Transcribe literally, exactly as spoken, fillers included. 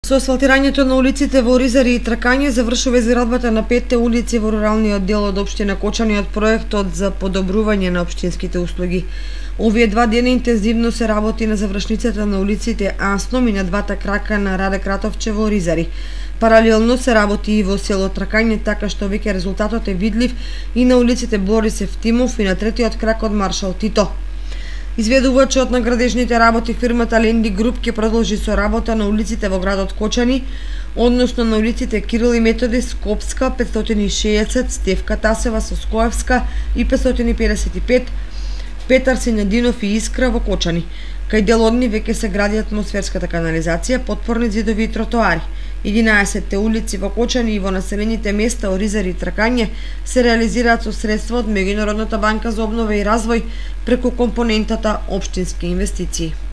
Со асфалтирањето на улиците во Оризари и Тракање завршува изградбата на петте улици во руралниот дел од општина Кочани од проектот за подобрување на општинските услуги. Овие два дена интензивно се работи на завршницата на улиците Асном и на двата крака на Раде Кратовче во Оризари. Паралелно се работи и во село Тракање, така што веќе резултатот е видлив и на улиците Борис Евтимов и на третиот крак од Маршал Тито. Изведувачот на градежните работи фирмата Ленди Груп ќе продолжи со работа на улиците во градот Кочани, односно на улиците Кирил и Методи, Скопска, петстотини и шеесет, Стефка Тасева, Соскоевска и петстотини и педесет и пет, Петар Сињадинов и Искра во Кочани. Кај дел од нив веќе се гради атмосферската канализација, потпорни зидови и тротоари. единаесетте улици во Кочани и во населените места Оризари и Тракање се реализираат со средства од Меѓународната банка за обнова и развој преку компонентата општински инвестиции.